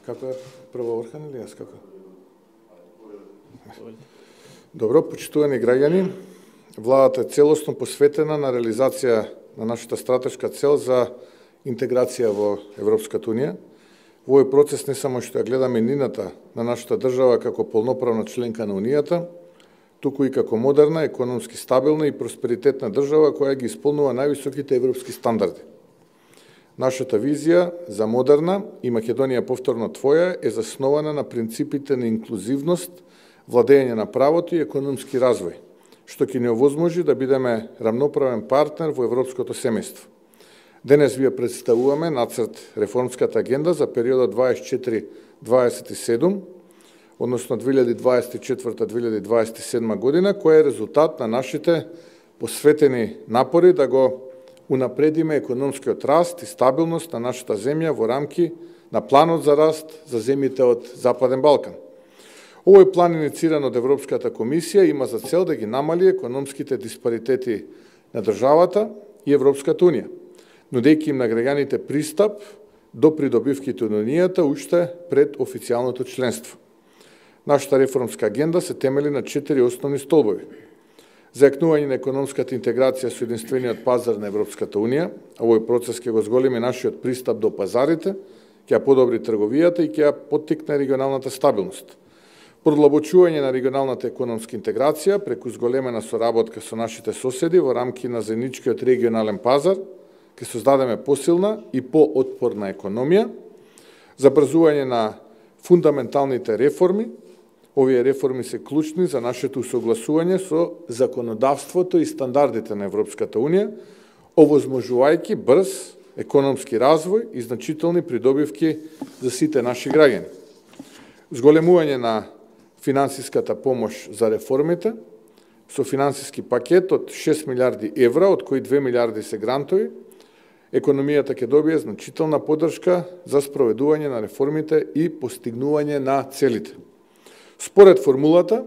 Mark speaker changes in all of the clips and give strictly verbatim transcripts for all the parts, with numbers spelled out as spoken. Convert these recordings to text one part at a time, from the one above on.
Speaker 1: Како е прво Орхан или јас како? Добро, почитувани граѓани, владата е целосно посветена на реализација на нашата стратешка цел за интеграција во Европската унија. Во овој процес не само што ја гледаме нината на нашата држава како полноправна членка на Унијата, туку и како модерна, економски стабилна и просперитетна држава која ги исполнува највисоките европски стандарди. Нашата визија за модерна и Македонија повторно твоја е заснована на принципите на инклузивност, владење на правото и економски развој, што ќе ни овозможи да бидеме рамноправен партнер во европското семејство. Денес вие представуваме нацрт реформската агенда за периодот дваесет и четири дваесет и седум, односно две илјади дваесет и четврта две илјади дваесет и седма година, која е резултат на нашите посветени напори да го унапредиме економскиот раст и стабилност на нашата земја во рамки на планот за раст за земјите од Западен Балкан. Овој план, инициран од Европската комисија, има за цел да ги намали економските диспаритети на државата и Европската унија, нудејќи им на граѓаните пристап до придобивките од Унијата уште пред официјалното членство. Нашата реформска агенда се темели на четири основни столбови: зајакнување на економската интеграција со единствениот пазар на Европската унија. Овој процес ќе го зголеми нашиот пристап до пазарите, ќе ја подобри трговијата и ќе ја поттикне регионалната стабилност. Продлабочување на регионалната економска интеграција преку зголемена соработка со нашите соседи во рамки на заедничкиот регионален пазар, ќе создадеме посилна и поотпорна економија, забрзување на фундаменталните реформи. Овие реформи се клучни за нашето усогласување со законодавството и стандардите на Европската унија, овозможувајќи брз економски развој и значителни придобивки за сите наши граѓани. Зголемување на финансиската помош за реформите со финансиски пакет од шест милиарди евра, од кои две милиарди се грантови. Економијата ќе добие значителна поддршка за спроведување на реформите и постигнување на целите. Според формулата,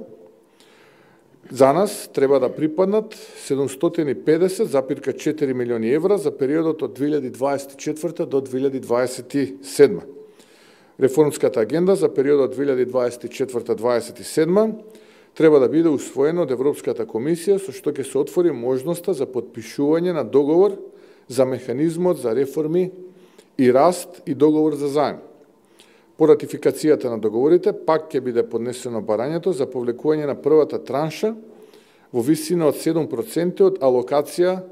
Speaker 1: за нас треба да припаднат седумстотини и педесет запирка четири милиони евра за периодот од две илјади дваесет и четврта до две илјади дваесет и седма. Реформската агенда за периодот две илјади дваесет и четврта до дваесет и седма треба да биде усвоена од Европската комисија, со што ќе се отвори можноста за подпишување на договор за механизмот за реформи и раст и договор за заем. По ратификацијата на договорите, пак ќе биде поднесено барањето за повлекување на првата транша во висина од седум проценти од алокација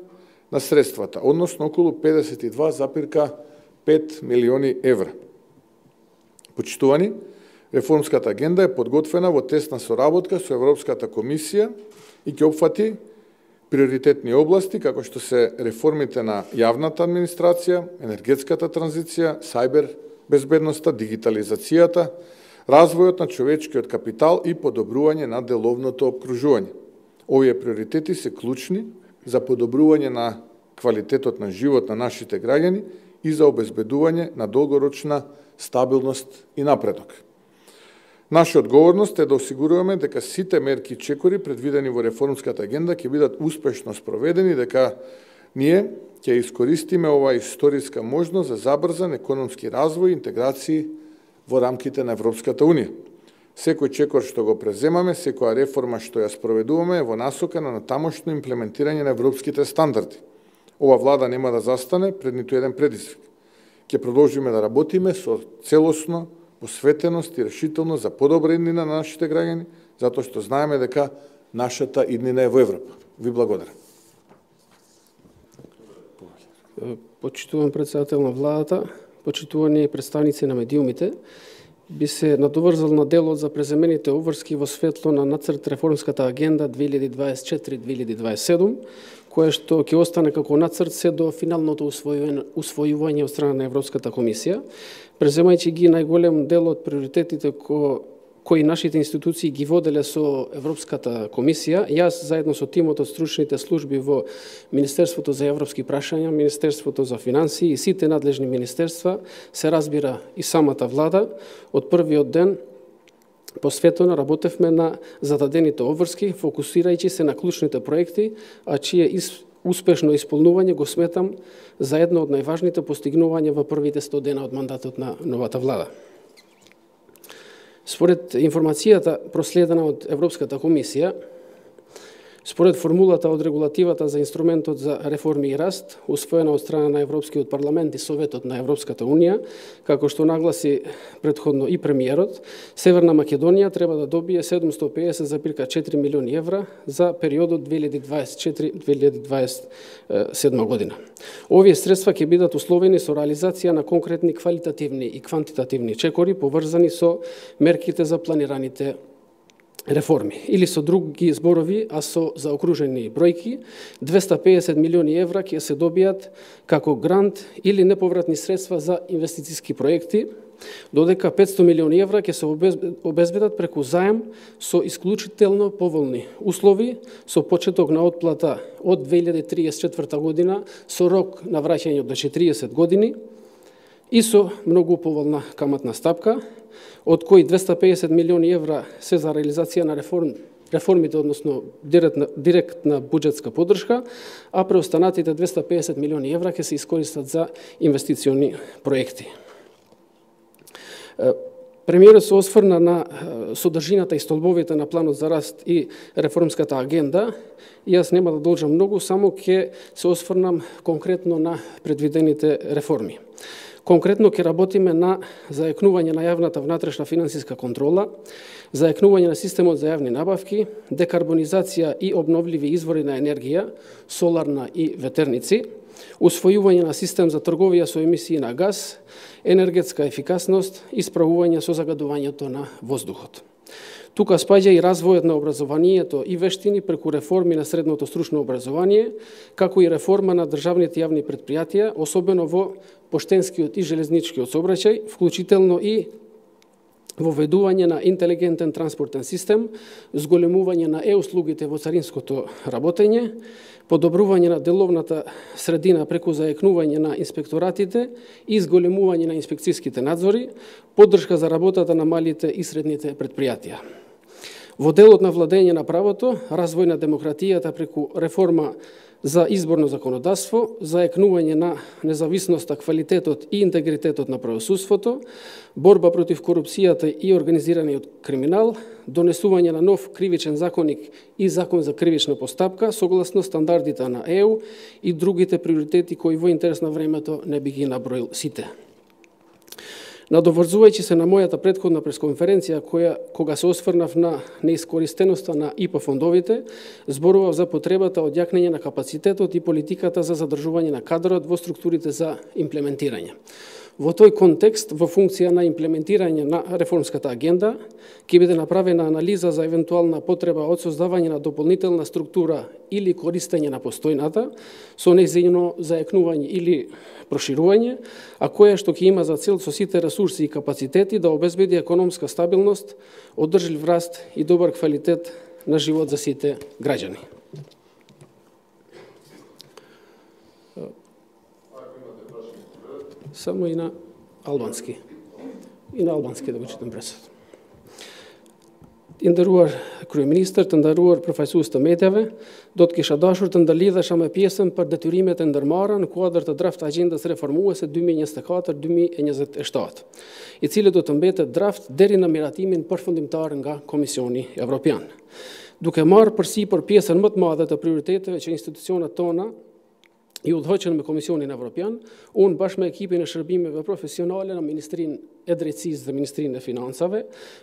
Speaker 1: на средствата, односно околу педесет и два запирка пет милиони евра. Почитувани, реформската агенда е подготвена во тесна соработка со Европската комисија и ќе опфати приоритетни области, како што се реформите на јавната администрација, енергетската транзиција, сајбер безбедноста, дигитализацијата, развојот на човечкиот капитал и подобрување на деловното обкружување. Овие приоритети се клучни за подобрување на квалитетот на живот на нашите граѓани и за обезбедување на долгорочна стабилност и напредок. Наша одговорност е да осигуруваме дека сите мерки и чекори предвидени во реформската агенда ќе бидат успешно спроведени, дека ние ќе искористиме оваа историска можност за забрзан економски развој и интеграција во рамките на Европската унија. Секој чекор што го преземаме, секоја реформа што ја спроведуваме е во насока на натамошно имплементирање на европските стандарди. Ова влада нема да застане пред ниту еден предизвик. Ќе продолжиме да работиме со целосно посветеност и решителност за подобра иднина на нашите граѓани, затоа што знаеме дека нашата иднина е во Европа. Ви благодарам.
Speaker 2: Почитуван председател на владата, почитувани представници на медиумите, би се надоврзал на делот за преземените обврски во светло на нацрт реформската агенда две илјади дваесет и четири до две илјади дваесет и седум, кое што ќе остане како нацрт се до финалното усвојување од страна на Европската комисија, преземајќи ги најголем дел од приоритетите ко кои нашите институции ги воделе со Европската комисија. Јас заедно со тимот од стручните служби во Министерството за европски прашања, Министерството за финансии и сите надлежни министерства, се разбира и самата влада, од првиот ден посветено работевме на зададените обврски, фокусирајќи се на клучните проекти, а чие успешно исполнување го сметам за едно од најважните постигнувања во првите сто дена од мандатот на новата влада. Според информацијата проследена од Европската комисија, според формулата од регулативата за инструментот за реформи и раст, усвоена од страна на Европскиот парламент и Советот на Европската унија, како што нагласи претходно и премиерот, Северна Македонија треба да добие седумстотини и педесет зарез четири милиони евра за периодот две илјади дваесет и четврта до две илјади дваесет и седма година. Овие средства ќе бидат условени со реализација на конкретни квалитативни и квантитативни чекори поврзани со мерките за планираните реформи. Или со други зборови, а со заокружени бројки, двесте и педесет милиони евра ќе се добијат како грант или неповратни средства за инвестициски проекти, додека петстотини милиони евра ќе се обезбедат преку заем со исклучително поволни услови, со почеток на отплата од две илјади триесет и четврта година, со рок на враќање до четириесет години и со многу поволна каматна стапка, од кои двесте и педесет милиони евра се за реализација на реформ, реформите, односно директна, директна буџетска поддршка, а преостанатите двесте и педесет милиони евра ќе се искористат за инвестициони проекти. Премиерот се осврна на содржината и столбовите на планот за раст и реформската агенда, и јас нема да должам многу, само ќе се осврнам конкретно на предвидените реформи. Конкретно ќе работиме на зајакнување на јавната внатрешна финансиска контрола, зајакнување на системот за јавни набавки, декарбонизација и обновливи извори на енергија, соларна и ветерници, усвојување на систем за трговија со емисии на газ, енергетска ефикасност и справување со загадувањето на воздухот. Тука спаѓа и развојот на образованието и вештини преку реформи на средното стручно образование, како и реформа на државните јавни предпријатија, особено во поштенскиот и железничкиот сообраќај, вклучително и воведување на интелигентен транспортен систем, зголемување на е-услугите во царинското работење, подобрување на деловната средина преку зајакнување на инспекторатите и зголемување на инспекцијските надзори, поддршка за работата на малите и средните предпријатија. Во делот на владење на правото, развој на демократијата преку реформа за изборно законодавство, зајакнување на независноста, квалитетот и интегритетот на правосудството, борба против корупцијата и организираниот криминал, донесување на нов кривичен законник и закон за кривична постапка согласно стандардите на Е У и другите приоритети кои во интерес на времето не би ги наброил сите. Надоврзувајќи се на мојата претходна пресконференција, која, кога се осврнав на неискористеноста на И П фондовите, зборував за потребата од јакнење на капацитетот и политиката за задржување на кадрот во структурите за имплементирање. Во тој контекст, во функција на имплементирање на реформската агенда, ќе биде направена анализа за евентуална потреба од создавање на дополнителна структура или користење на постојната, со нејзино зајакнување или проширување, а која што ќе има за цел со сите ресурси и капацитети да обезбеди економска стабилност, одржлив раст и добар квалитет на живот за сите граѓани. Само и на албански. И на албански да го читам пресот. Të nderuar kryeministër, të nderuar përfaqësues të medjave, do të kisha dashur të ndërlidhesha me pjesën për detyrimet e ndërmarra në kuadër të draft agjendës reformuese dy mijë e njëzet e katër dy mijë e njëzet e shtatë, i cili do të mbetet draft deri në miratimin përfundimtar nga Komisioni Evropian. Duke marrë përsipër pjesën më të madhe të prioriteteve që institucionet tona i udhëheqën me Komisionin Evropian, unë bashkë me ekipin e shërbimeve profesionale në Ministrinë e Drejtësisë dhe Ministrinë e Financave,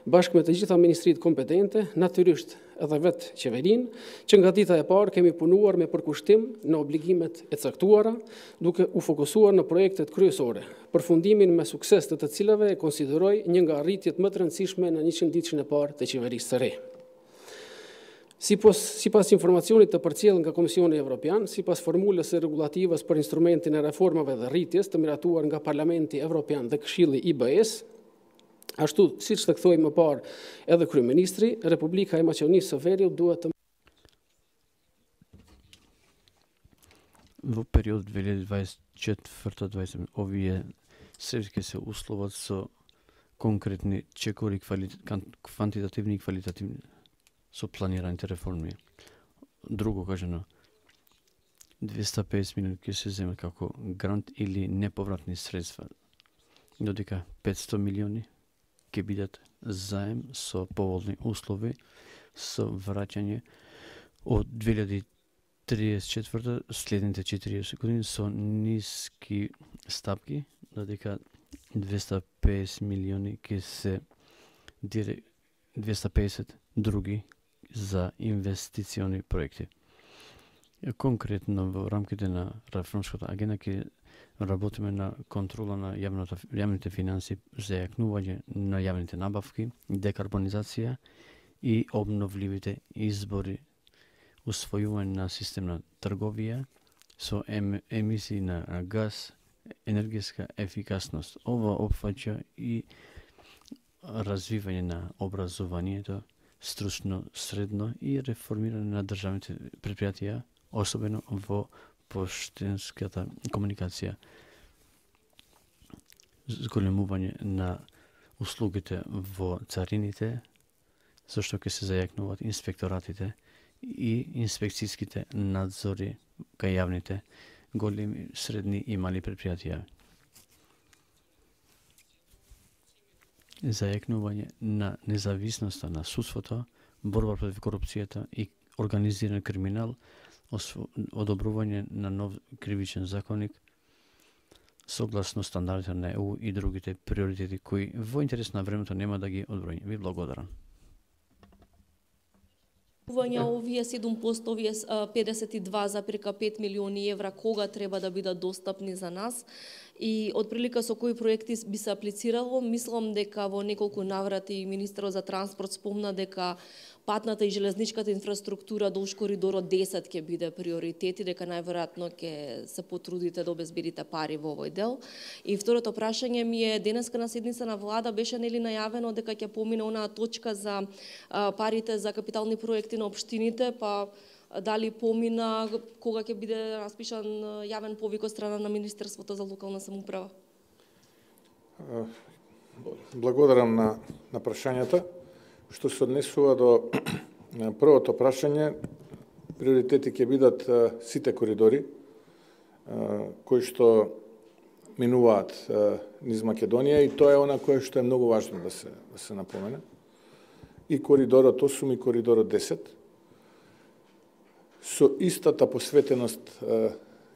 Speaker 2: bashkë me të gjitha ministritë kompetente, natyrisht edhe vetë qeverinë, që nga dita e parë kemi punuar me përkushtim në obligimet e caktuara, duke u fokusuar në projektet kryesore, përfundimin me sukses të të cilave e konsideroj një nga arritjet më të rëndësishme në njëqind ditëshin e parë të qeverisë së re. Sipas, sipas informacionit të përcjellë nga Komisioni Evropian, sipas formulës e regulativës për instrumentin e reformave dhe rritjes të miratuar nga Parlamenti Evropian dhe Këshilli I B S, ashtu siç të kthoi më parë edhe kryeministri, Republika e Maqedonisë së Veriut duhet të
Speaker 3: Во период две илјади дваесет и четврта до дваесет и седма овие средски се условат со конкретни чекори, квантитативни и квалитативни со планираните реформи. Друго кажано, двесте и педесет милиони ќе се земат како грант или неповратни средства, додека петстотини милиони ќе бидат заем со поволни услови со враќање од две илјади триесет и четврта следните четириесет години со ниски стапки, додека двесте и песет милиони ќе се двесте и песет други за инвестициони проекти. Конкретно во рамките на реформската агенда ќе работиме на контрола на јавната, јавните финанси, зајакнување на јавните набавки, декарбонизација и обновливите избори, усвојување на систем на трговија со ем, емисии на, на газ, енергетска ефикасност. Ова опфаќа и развивање на образованието, стручно средно и реформирање на државните предпријатија, особено во поштенската комуникација, зголемување на услугите во царините, зашто ќе се зајакнуваат инспекторатите и инспекцијските надзори кај јавните, големи, средни и мали предпријатија. Зајакнување на независноста на судството, борба против корупцијата и организиран криминал, одобрување на нов кривичен законник согласно стандардите на Е У и другите приоритети кои во интерес на времето нема да ги одбројам. Ви благодарам.
Speaker 4: Овие седум поsto, овие педесет и два запирка пет милиони евра, кога треба да бидат достапни за нас и отприлика со кои проекти би се аплицирало. Мислам дека во неколку наврати министерот за транспорт спомна дека патната и железничката инфраструктура долж коридорот десет ќе биде приоритет и дека најверојатно ќе се потрудите да обезбедите пари во овој дел. И второто прашање ми е, денеска на седница на влада беше нели најавено дека ќе помине онаа точка за а, парите за капитални проекти на општините, па дали помина, кога ќе биде распишан јавен повик од страна на Министерството за локална самоуправа?
Speaker 1: Благодарам на, на прашањата. Што се однесува до првото прашање, приоритети ќе бидат сите коридори кои што минуваат низ Македонија и тоа е она кое што е многу важно да се да се напомене. И коридорот осум и коридорот десет. Со истата посветеност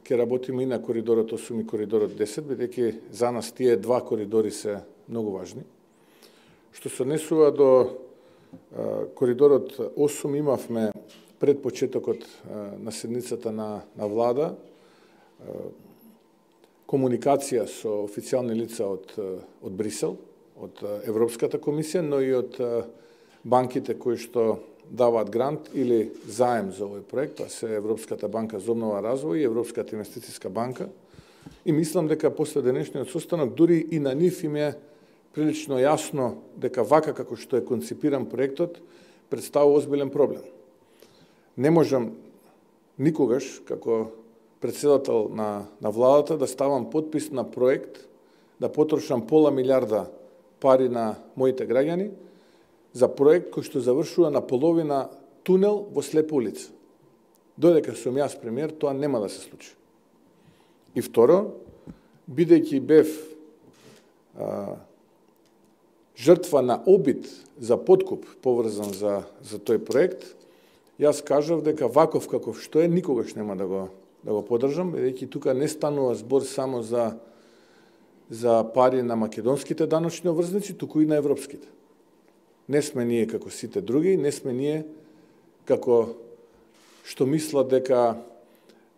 Speaker 1: ќе работиме и на коридорот осум и коридорот десет, бидејќи за нас тие два коридори се многу важни. Што се однесува до коридорот осум, имавме пред почетокот на седницата на, на влада комуникација со официјални лица од, од Брисел, од Европската комисија, но и од банките кои што даваат грант или заем за овој проект, тоа се Европската банка за обнова и развој и Европската инвестицијска банка. И мислам дека после денешниот состанок дури и на нив им е прилично јасно дека вака како што е концепиран проектот представува озбилен проблем. Не можам никогаш како председател на, на владата да ставам подпис на проект, да потрошам пола милиарда пари на моите граѓани за проект кој што завршува на половина тунел во слепа улица. Додека сум јас премиер, тоа нема да се случи. И второ, бидејќи бев а, жртва на обид за подкуп поврзан за, за тој проект, јас кажав дека ваков каков што е, никогаш нема да го, да го подржам, бидејќи тука не станува збор само за, за пари на македонските даночни обврзници, туку и на европските. Не сме ние како сите други, не сме ние како што мислат дека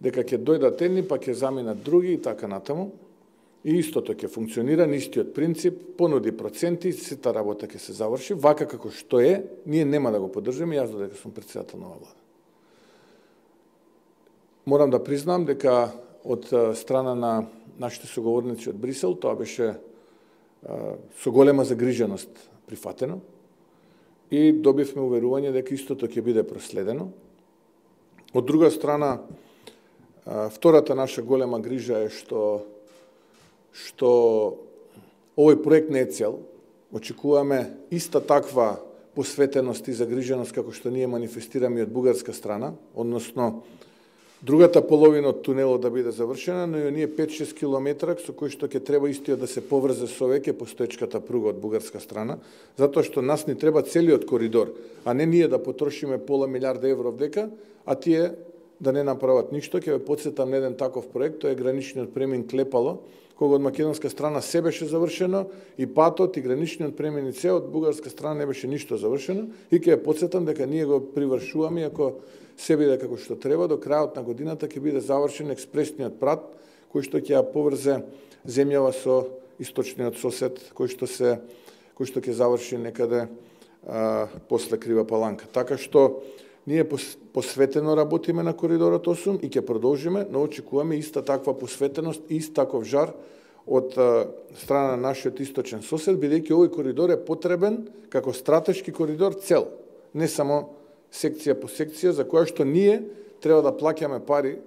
Speaker 1: дека ќе дојдат едни, па ќе заминат други и така натаму. И истото ќе функционира, истиот принцип, понуди проценти, сета работа ќе се заврши, вака како што е, ние нема да го поддржиме, јас додека сум председател на оваа влада. Морам да признам дека од страна на нашите соговорници од Брисел, тоа беше со голема загриженост прифатено и добивме уверување дека истото ќе биде проследено. Од друга страна, втората наша голема грижа е што што овој проект не е цел. Очекуваме иста таква посветеност и загриженост како што ние манифестираме од бугарска страна, односно другата половина од тунелот да биде завршена, но и оние пет-шест километра со кои што ќе треба истиот да се поврзе со веќе постоечката пруга од бугарска страна, затоа што нас ни треба целиот коридор, а не ние да потрошиме пола милиарда евро вдека, а тие да не направат ништо. Ќе ве потсетам на еден таков проект, тоа е граничниот премин Клепало, кога од македонска страна се беше завршено и патот и граничниот премин и се од бугарска страна не беше ништо завршено, и ќе ве потсетам дека ние го привршуваме, ако се биде како што треба, до крајот на годината ќе биде завршен експресниот прат кој што ќе ја поврзе земјава со источниот сосед, кој што се кој што ќе заврши некаде а, после Крива Паланка. Така што ние посветено работиме на коридорот осум и ќе продолжиме, но очекуваме иста таква посветеност и ист таков жар од страна на нашиот источен сосед, бидејќи овој коридор е потребен како стратешки коридор цел, не само секција по секција, за која што ние треба да плаќаме пари,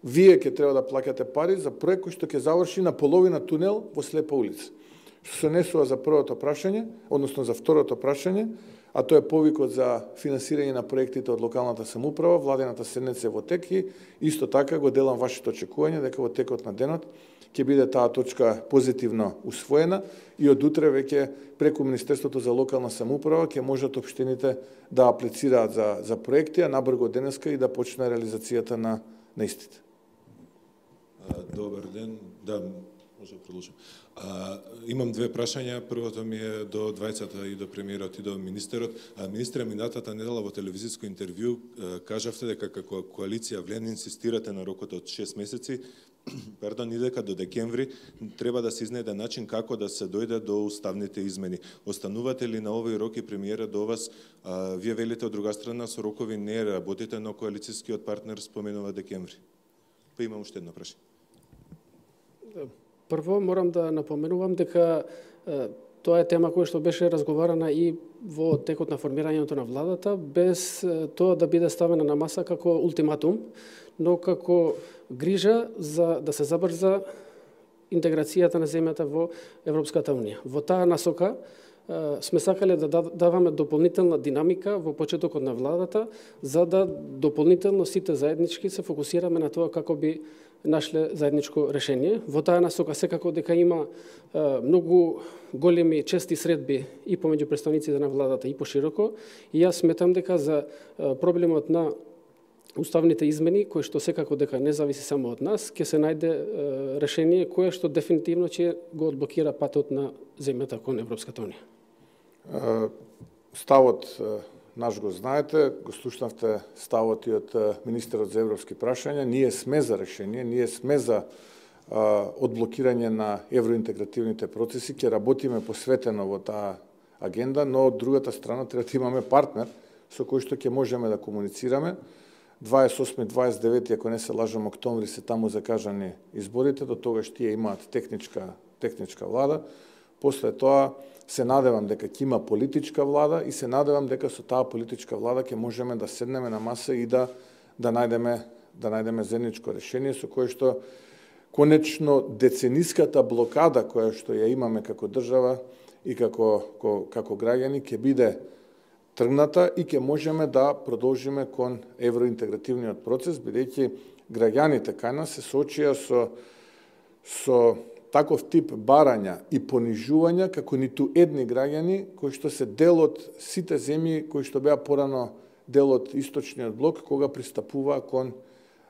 Speaker 1: вие ќе треба да плаќате пари за проект кој што ќе заврши на половина тунел во слепа улица. Што се несува за првото прашање, односно за второто прашање, а тоа е повикот за финансирање на проектите од локалната самоуправа, владената седница во тек и исто така го делам вашето очекување дека во текот на денот ќе биде таа точка позитивно усвоена и од утре веќе преку Министерството за локална самоуправа ќе можат општините да аплицираат за за проекти, а набрзо денеска и да почне реализацијата на на истите.
Speaker 5: Добар ден. Да, може да продолжам. А, имам две прашања. Првото ми е до двајцата и до премиерот и до министерот. А, министре, минатата недела во телевизиско интервју кажавте дека како коалиција Влен инсистирате на рокот од шест месеци, пардон, и дека до декември треба да се изнајде начин како да се дојде до уставните измени. Останувате ли на овој рок и премиерот до вас? А, вие велите од друга страна со рокови не работите, но коалицијскиот партнер споменува декември. Па имам уште едно прашање.
Speaker 2: Прво морам да напоменувам дека е, тоа е тема која што беше разговарана и во текот на формирањето на владата, без е, тоа да биде ставена на маса како ултиматум, но како грижа за да се забрза интеграцијата на земјата во Европската унија. Во таа насока е, сме сакале да даваме дополнителна динамика во почетокот на владата, за да дополнително сите заеднички се фокусираме на тоа како би нашле заедничко решение. Во таа насока секако дека има е, многу големи чести средби и помеѓу представниците на владата и пошироко, и јас сметам дека за е, проблемот на уставните измени, кои што секако дека не зависи само од нас, ќе се најде е, решение кое што дефинитивно ќе го одблокира патот на земјата кон Европската унија.
Speaker 1: Ставот наш го знаете, го слушнавте ставот и од министерот за европски прашања. Ние сме за решение, ние сме за а, одблокирање на евроинтегративните процеси, ќе работиме посветено во таа агенда, но од другата страна треба да имаме партнер со кој што ќе можеме да комуницираме. дваесет и осми дваесет и девети, ако не се лажам, октомври се таму закажани изборите, до тогаш тие имаат техничка, техничка влада. После тоа се надевам дека ќе има политичка влада и се надевам дека со таа политичка влада ќе можеме да седнеме на маса и да да најдеме да најдеме заедничко решение со кое што конечно децениската блокада која што ја имаме како држава и како како, како граѓани ќе биде тргната и ќе можеме да продолжиме кон евроинтегративниот процес, бидејќи граѓаните кај нас се соочија со со таков тип барања и понижувања како ниту едни граѓани кои што се дел од сите земји кои што беа порано дел од источниот блок кога пристапува кон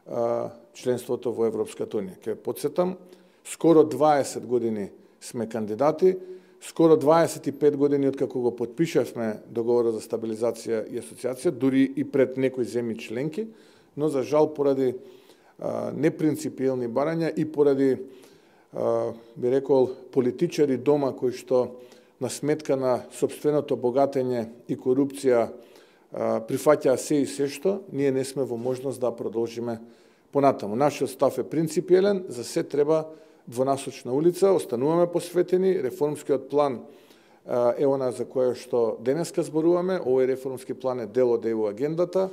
Speaker 1: а, членството во Европската унија. Ке потсетам, скоро дваесет години сме кандидати, скоро дваесет и пет години откако го потпишавме договорот за стабилизација и асоциација, дури и пред некои земји членки, но за жал поради а, непринципиелни барања и поради би рекол политичари дома кои што на сметка на сопственото богатење и корупција прифаќаа се и се што, ние не сме во можност да продолжиме понатаму. Нашиот став е принципиелен, за се треба двонасочна улица, остануваме посветени, реформскиот план е она за која што денеска зборуваме, овој реформски план е дел од ЕУ агендата,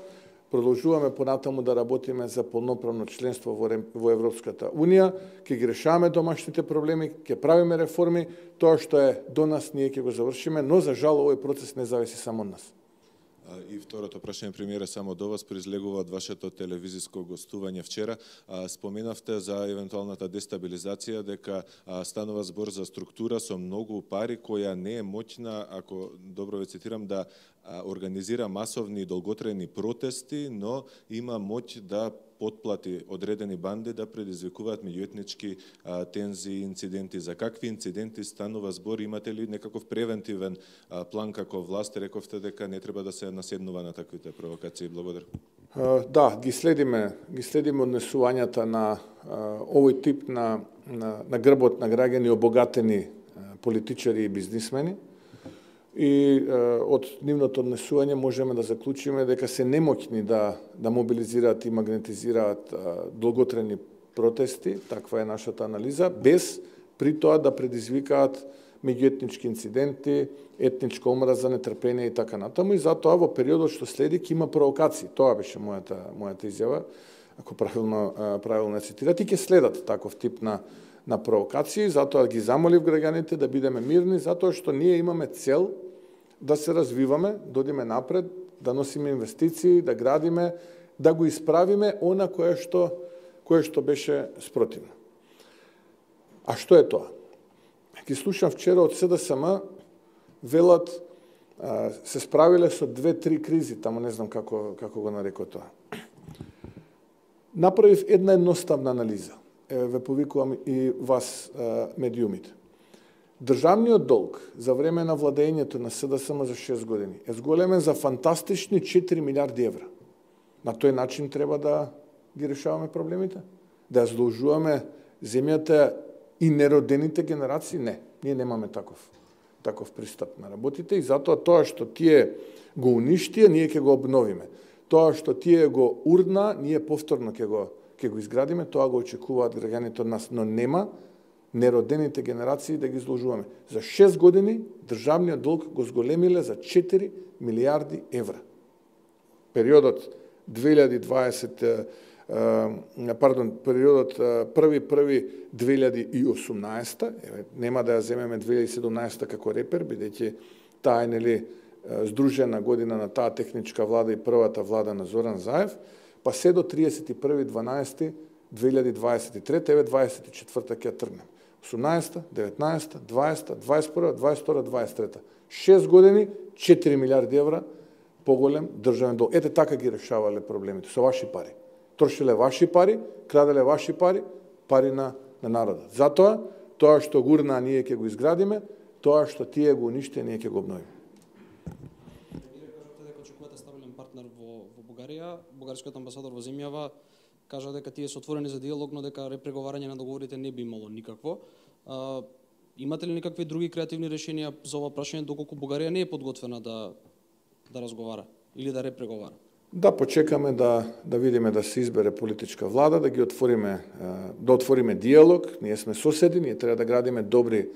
Speaker 1: продолжуваме понатаму да работиме за полноправно членство во, во Европската унија, ќе ги решаваме домашните проблеми, ќе правиме реформи, тоа што е до нас ние ќе го завршиме, но за жал овој процес не зависи само од нас.
Speaker 5: И второто прашање, премиере, само до вас произлегува од вашето телевизиско гостување вчера. Споменавте за евентуалната дестабилизација, дека станува збор за структура со многу пари, која не е моќна, ако добро ве цитирам, да организира масовни и долготрајни протести, но има моќ да потплати одредени банди да предизвикуваат меѓуетнички тензии и инциденти. За какви инциденти станува збор? Имате ли некаков превентивен а, план како власт? Рековте дека не треба да се наседнува на таквите провокации. Благодарам.
Speaker 1: Да, ги следиме, ги следиме однесувањата на а, овој тип на, на, на грбот на граѓани обогатени а, политичари и бизнисмени. И е, од нивното однесување можеме да заклучиме дека се немоќни да, да мобилизираат и магнетизираат долготрајни протести, таква е нашата анализа, без при тоа да предизвикаат меѓуетнички инциденти, етничка омраза, нетрпение и така натаму. И затоа во периодот што следи ќе има провокации. Тоа беше мојата, мојата изјава, ако правилно, правилно цитират, и ќе следат таков тип на на провокации, затоа ги замолив граѓаните да бидеме мирни, затоа што ние имаме цел да се развиваме, да одиме напред, да носиме инвестиции, да градиме, да го исправиме она кое што кое што беше спротивно. А што е тоа? Ги слушам вчера од СДСМ, велат се справиле со две-три кризи, таму не знам како како го нарекоа тоа. Направив една едноставна анализа. Ве повикувам и вас, медиумите. Државниот долг за време на владењето на СДСМ за шест години е зголемен за фантастични четири милиарди евра. На тој начин треба да ги решаваме проблемите? Да ја задолжуваме земјата и неродените генерации? Не, ние немаме таков, таков пристап на работите и затоа тоа што тие го уништија, ние ќе го обновиме. Тоа што тие го урна, ние повторно ќе го ќе го изградиме, тоа го очекуваат граѓаните од нас, но нема неродените генерации да ги изложуваме. За шест години државниот долг го зголемиле за четири милиарди евра. Периодот две илјади и дваесета, пардон, периодот први први две илјади и осумнаесета, еве, нема да ја земеме две илјади и седумнаесета како репер, бидејќи таа е нели здружена година на таа техничка влада и првата влада на Зоран Заев, па се до тридесет и први дванаесети две илјади дваесет и трета, еве дваесет и четврта ќе тргнем. осумнаесета, деветнаесета, дваесета, дваесет и прва, дваесет и втора, дваесет и трета. шест години, четири милиарди евра поголем државен долг. Ете така ги решавале проблемите со ваши пари. Трошеле ваши пари, краделе ваши пари, пари на на народот. Затоа тоа што гурна ние ќе го изградиме, тоа што тие го уништија ние ќе го обновиме.
Speaker 2: Партнер во, во Бугарија, бугарскиот амбасадор во земјава кажа дека тие се отворени за диалог, но дека репреговарање на договорите не би имало никакво. А, имате ли никакви други креативни решенија за ова прашање, доколку Бугарија не е подготвена да да разговара или да репреговара?
Speaker 1: Да почекаме да да видиме да се избере политичка влада, да ги отвориме да отвориме диалог. Ние сме соседи, ние треба да градиме добри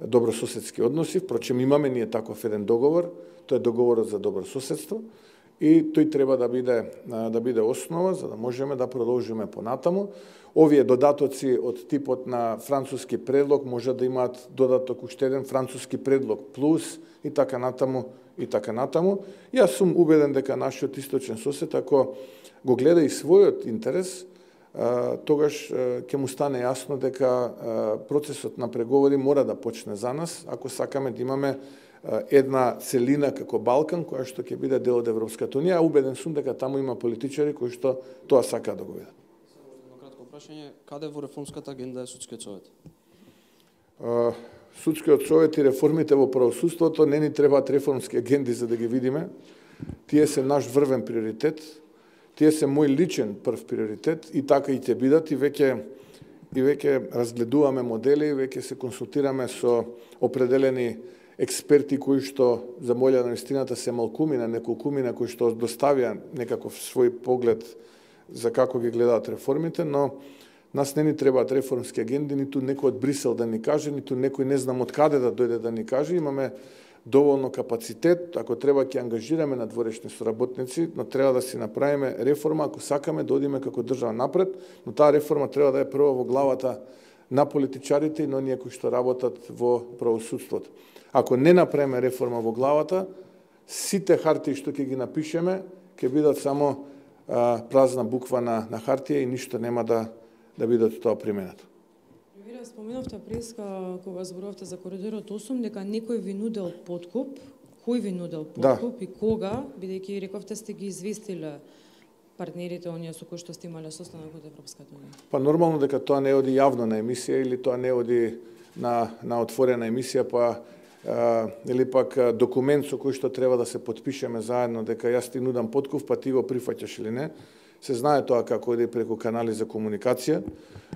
Speaker 1: добрососедски односи. Впрочем имаме ние таков еден договор, тоа е договорот за добро соседство. И тој треба да биде да биде основа за да можеме да продолжиме понатаму. Овие додатоци од типот на француски предлог може да имаат додаток уште еден француски предлог плюс и така натаму и така натаму. Јас сум убеден дека нашиот источен сосед ако го гледа и својот интерес, тогаш ќе му стане јасно дека процесот на преговори мора да почне за нас ако сакаме да имаме една целина како Балкан, која што ќе биде дел од Европската унија, а убеден сум дека таму има политичари кои што тоа сакаат да го видат.
Speaker 2: Само кратко прашање, каде во реформската агенда е судскиот совет?
Speaker 1: Судскиот совет и реформите во правосудството не ни требаат реформски агенди за да ги видиме. Тие се наш врвен приоритет, тие се мој личен прв приоритет и така и ќе бидат и веќе и веќе разгледуваме модели, веќе се консултираме со определени експерти кои што за молја на вистината се малкумина, неколкумина кои што доставија некаков свој поглед за како ги гледаат реформите, но нас не ни требаат реформски агенди, ниту некој од Брисел да ни каже, ниту некој не знам од каде да дојде да ни каже. Имаме доволно капацитет, ако треба ќе ангажираме надворешни соработници, но треба да си направиме реформа ако сакаме да одиме како држава напред, но таа реформа треба да е прво во главата на политичарите и на оние кои што работат во правосудството. Ако не направиме реформа во главата, сите хартии што ќе ги напишеме, ќе бидат само а, празна буква на, на хартија и ништо нема да, да бидат тоа применето.
Speaker 6: Вие споменавте преска кога зборувавте за коридорот осум дека некој ви нудел подкуп. Кој ви нудел подкуп да. И кога, бидејќи рековте сте ги известиле партнерите оние со кои што сте имале состанок од Европската унија?
Speaker 1: Па нормално дека тоа не оди јавно на емисија или тоа не оди на, на отворена емисија, па а, или пак документ со кој што треба да се потпишеме заедно дека јас ти нудам подкуп, па ти го прифаќаш или не. Се знае тоа како оди преку канали за комуникација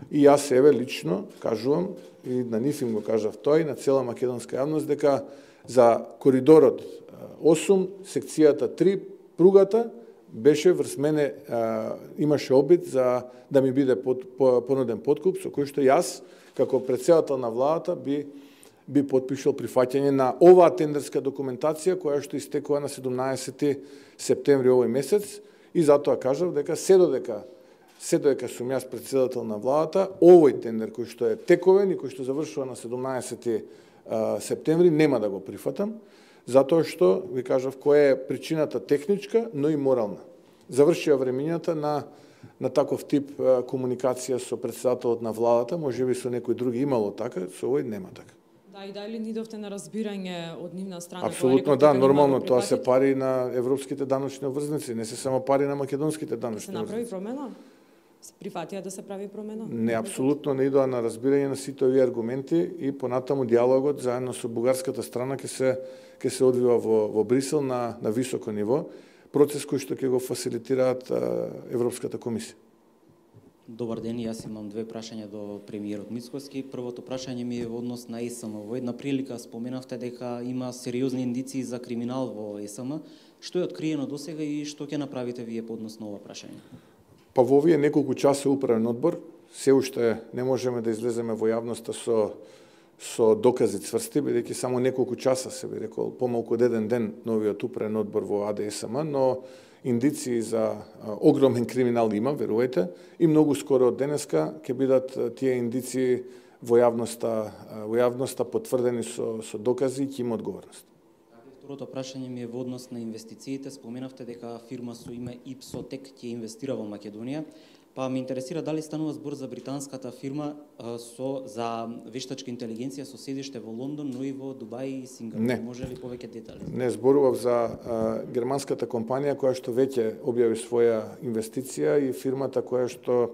Speaker 1: и јас еве лично кажувам и на нив им го кажав тој на цела македонска јавност дека за коридорот осум, секцијата три, пругата беше врз мене, а, имаше обид за да ми биде под, по, понуден подкуп со кој што јас како претседател на владата би би потпишал прифаќање на оваа тендерска документација која што истекува на седумнаесети септември овој месец и затоа кажав дека се додека се додека сум јас претседател на владата, овој тендер кој што е тековен и кој што завршува на седумнаесети септември нема да го прифатам, затоа што ви кажав која е причината техничка, но и морална. Завршија времењата на на таков тип комуникација со претседателот на владата, можеби со некој други имало така, со овој нема така.
Speaker 6: Да, и дали ни довте на разбирање од нивна страна?
Speaker 1: Апсолутно да, нормално, тоа се пари на европските даночни обврзници, не се само пари на македонските даночни
Speaker 6: обврзници. Се направи промена? Се прифатија да се прави промена?
Speaker 1: Не, апсолутно не идоа на разбирање на сите овие аргументи и понатаму диалогот заедно со бугарската страна ќе се ќе се одвива во во Брисел на на високо ниво, процес кој што ќе го фасилитираат Европската комисија.
Speaker 7: Добар ден, јас имам две прашања до премиерот Мицкоски. Првото прашање ми е во однос на Е С М. Во една прилика споменавте дека има сериозни индиции за криминал во Е С М. Што е откриено досега и што ќе направите вие по однос на ова прашање?
Speaker 1: Па во овие неколку часа управен одбор, се уште не можеме да излеземе во јавноста со со докази цврсти, бидејќи само неколку часа, се би рекол, помалку од еден ден новиот управен одбор во А Д С М, но индиции за огромен криминал има, верувајте, и многу скоро од денеска ќе бидат тие индиции во јавноста, во јавноста потврдени со со докази и ќе има одговорност.
Speaker 7: Второто прашање ми е во однос на инвестициите. Споменавте дека фирма со име Ипсотек ќе инвестира во Македонија. Па ме интересира дали станува збор за британската фирма а, со за вештачка интелигенција со седиште во Лондон, но и во Дубај и Сингапур.
Speaker 1: Не.
Speaker 7: Може ли повеќе детали?
Speaker 1: Не, зборував за а, германската компанија која што веќе објави своја инвестиција и фирмата која што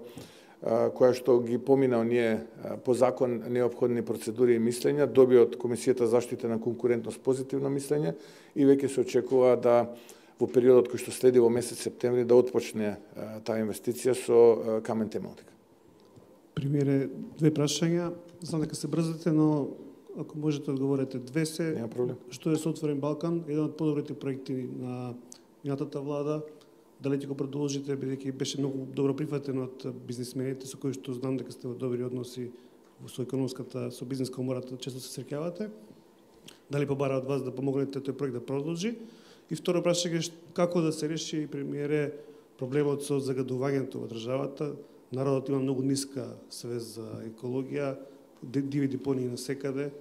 Speaker 1: а, која што ги помина оние а, по закон неопходни процедури и мислења, доби од Комисијата за заштита на конкурентност позитивно мислење и веќе се очекува да во периодот кој што следи во месец септември да отпочне а, таа инвестиција со а, Камен Темелник.
Speaker 8: Премиере, две прашања. Знам дека се брзате, но ако можете одговорите две се.
Speaker 1: Нема проблем.
Speaker 8: Што е со Отворен Балкан, еден од подобрите проекти на минатата влада, дали ќе го продолжите, бидејќи беше многу добро прифатен од бизнисмените со кои што знам дека сте во добри односи со економската, со бизнес комората, често се среќавате. Дали побара од вас да помогнете тој проект да продолжи? И второ прашање е како да се реши, премиере, проблемот со загадувањето во државата. Народот има многу ниска свест за екологија, диви депонии насекаде.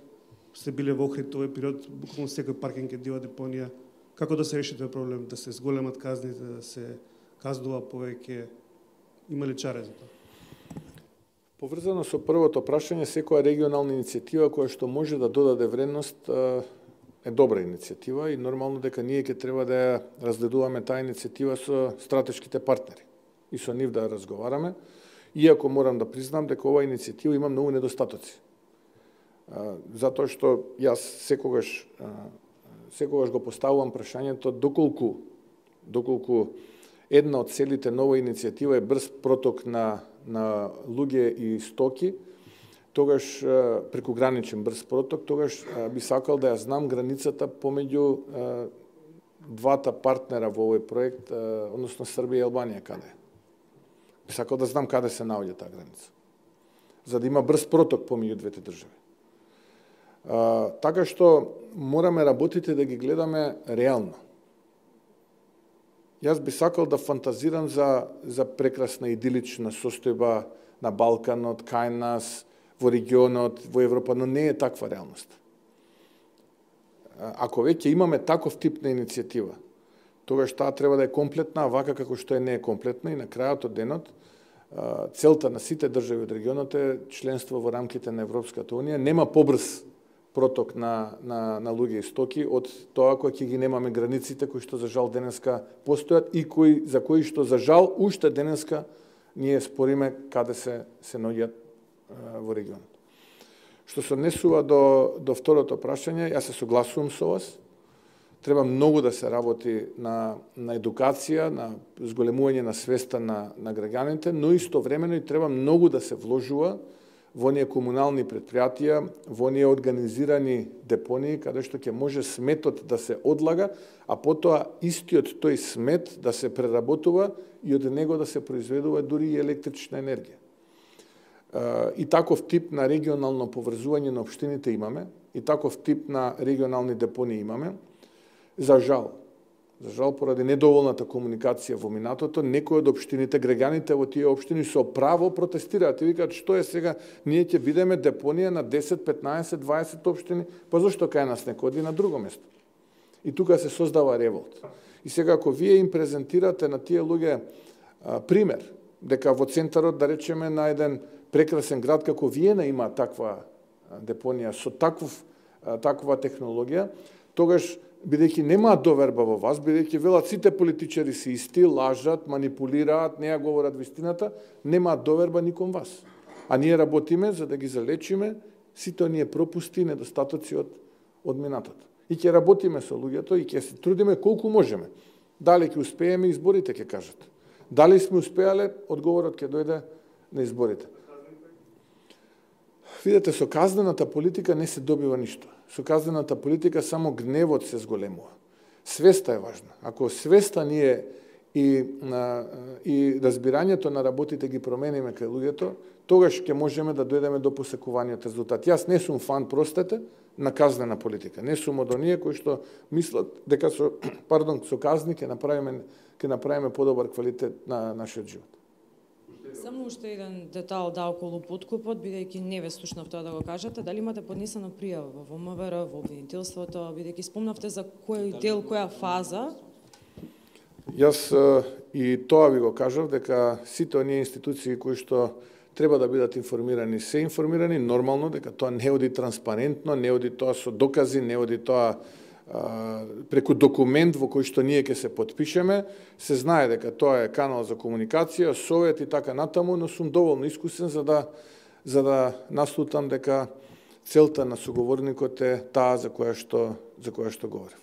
Speaker 8: Сте биле во Охрид овој период, буквално секој паркинг е дива депонија. Како да се реши тој проблем, да се зголемат казните, да се казнува повеќе? Има ли чаре за тоа?
Speaker 1: Поврзано со првото прашање, секоја регионална иницијатива која што може да додаде вредност е добра иницијатива и нормално дека ние ќе треба да ја разгледуваме таа иницијатива со стратешките партнери и со нив да разговараме, иако морам да признам дека оваа иницијатива има многу недостатоци. Затоа што јас секогаш секогаш го поставувам прашањето доколку доколку една од целите на оваа иницијатива е брз проток на на луѓе и стоки, тогаш прекуграничен брз проток, тогаш би сакал да ја знам границата помеѓу двата партнера во овој проект, односно Србија и Албанија каде е. Би сакал да знам каде се наоѓа таа граница, за да има брз проток помеѓу двете држави. А, така што мораме работите да ги гледаме реално. Јас би сакал да фантазирам за, за прекрасна идилична состојба на Балканот, кај нас, во регионот, во Европа, но не е таква реалност. ако веќе имаме таков тип на иницијатива, тогаш таа треба да е комплетна, а вака како што е не е комплетна и на крајот од денот целта на сите држави од регионот е членство во рамките на Европската унија. Нема побрз проток на, на, на луѓе и стоки од тоа кој ќе ги немаме границите кои што за жал денеска постојат и кои, за кои што за жал уште денеска ние спориме каде се, се наоѓаат во регионот. Што се однесува до, до второто прашање, јас се согласувам со вас. Треба многу да се работи на, на едукација, на зголемување на свеста на, на граѓаните, но истовремено и треба многу да се вложува во оние комунални предпријатија, во оние организирани депонии, каде што ќе може сметот да се одлага, а потоа истиот тој смет да се преработува и од него да се произведува дури и електрична енергија. И таков тип на регионално поврзување на општините имаме, и таков тип на регионални депонии имаме. За жал, за жал поради недоволната комуникација во минатото, некои од општините, граѓаните во тие општини со право протестираат и викаат што е сега, ние ќе бидеме депонија на десет, петнаесет, дваесет општини, па зошто кај нас некој оди на друго место? И тука се создава револт. И сега ако вие им презентирате на тие луѓе а, пример, дека во центарот, да речеме, на еден прекрасен град како Виена има таква депонија со таков, таква технологија, тогаш бидејќи немаат доверба во вас, бидејќи велат сите политичари се исти, лажат, манипулираат, не ја говорат вистината, немаат доверба никон вас. А ние работиме за да ги залечиме сите оние пропусти и недостатоци од, од минатото. И ќе работиме со луѓето и ќе се трудиме колку можеме. Дали ќе успееме, изборите ќе кажат. Дали сме успеале, одговорот ќе дојде на изборите. Видете, со казнената политика не се добива ништо. Со казнената политика само гневот се зголемува. Свеста е важна. Ако свеста ние и, на, и разбирањето на работите ги промениме кај луѓето, тогаш ќе можеме да дојдеме до посекуваниот резултат. Јас не сум фан, простете, на казнена политика. Не сум од оние кои што мислат дека со, пардон, со казни ќе направиме, ќе направиме подобар квалитет на нашиот живот.
Speaker 6: Само уште еден детал да околу подкупот, бидејќи не ве слушнав тоа да го кажете, дали имате поднесена пријава во ВМРО, во обвинителството, бидејќи спомнавте за кој дел, која фаза?
Speaker 1: Јас и тоа ви го кажав, дека сите оние институции кои што треба да бидат информирани, се информирани, нормално, дека тоа не оди транспарентно, не оди тоа со докази, не оди тоа преку документ во кој што ние ќе се потпишеме, се знае дека тоа е канал за комуникација, совет и така натаму, но сум доволно искусен за да за да наслутам дека целта на соговорникот е таа за која што за која што говорев.